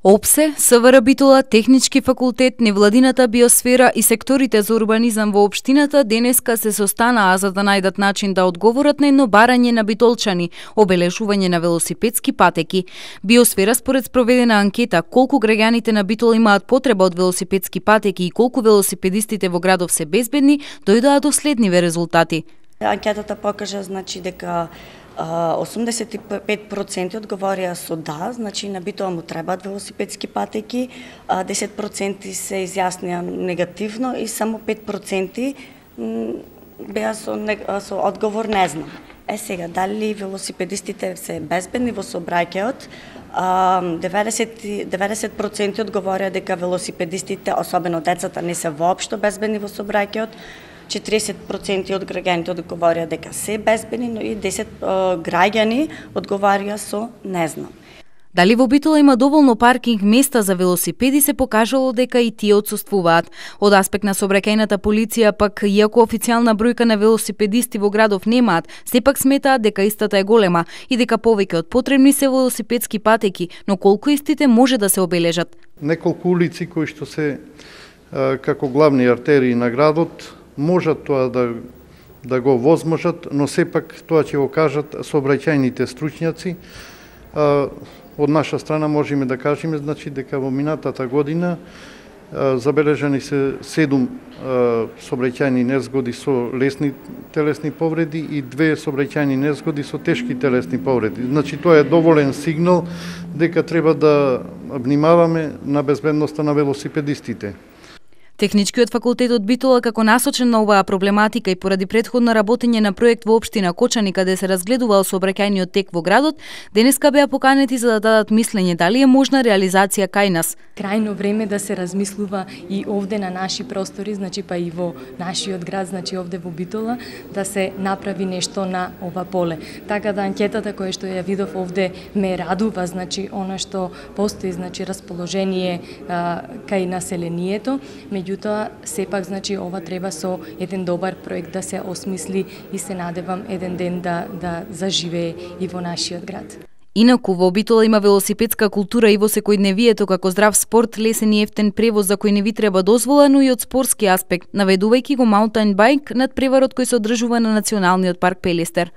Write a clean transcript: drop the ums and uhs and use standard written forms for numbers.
ОПСЕ, СВР Битола, Технички факултет, невладината биосфера и секторите за урбанизам во општината денеска се состанаа за да најдат начин да одговорат на едно барање на битолчани, обележување на велосипедски патеки. Биосфера според спроведена анкета колку граѓаните на Битола имаат потреба од велосипедски патеки и колку велосипедистите во градов се безбедни, дојдоа до следниве резултати. Анкетата покажа дека 85% одговорија со да, значи на Битола му требаат велосипедски патеки, 10% се изјаснија негативно и само 5% беа со одговор не знам. Сега, дали велосипедистите се безбедни во сообраќајот? 90% одговорија дека велосипедистите, особено децата, не се воопшто безбедни во сообраќајот. 40% од граѓаните одговорија дека се безбедни, но и 10 граѓани одговарија со не знам. Дали во Битола има доволно паркинг места за велосипеди се покажало дека и тие отсуствуваат. Од аспект на сообраќајната полиција пак, иако официјална бројка на велосипедисти во градов немаат, сепак сметаат дека истата е голема и дека повеќе од потребни се велосипедски патеки, но колку истите може да се обележат? Неколку улици кои што се како главни артерии на градот можат тоа да го возможат, но сепак тоа ќе го кажат сообраќајните стручњаци. Од наша страна можеме да кажеме дека во минатата година забележани се 7 сообраќајни незгоди со лесни телесни повреди и 2 сообраќајни незгоди со тешки телесни повреди. Тоа е доволен сигнал дека треба да внимаваме на безбедноста на велосипедистите. Техничкиот факултет од Битола, како насочен на оваа проблематика и поради претходно работење на проект во општина Кочани каде се разгледувал сообраќајниот тек во градот, денеска беа поканети за да дадат мислење дали е можна реализација кај нас. Крајно време да се размислува и овде на наши простори, па и во нашиот град, овде во Битола, да се направи нешто на ова поле. Така да анкетата која што ја видов овде ме радува, она што постои, расположение кај населението, меѓутоа сепак ова треба со еден добар проект да се осмисли и се надевам еден ден да заживее и во нашиот град. Инаку во Битола има велосипедска култура и во секојдневието како здрав спорт, лесен и ефтен превоз за кој не ви треба дозвола, но и од спортски аспект, наведувајќи го маунтајн байк над преварот кој се одржува на Националниот парк Пелестер.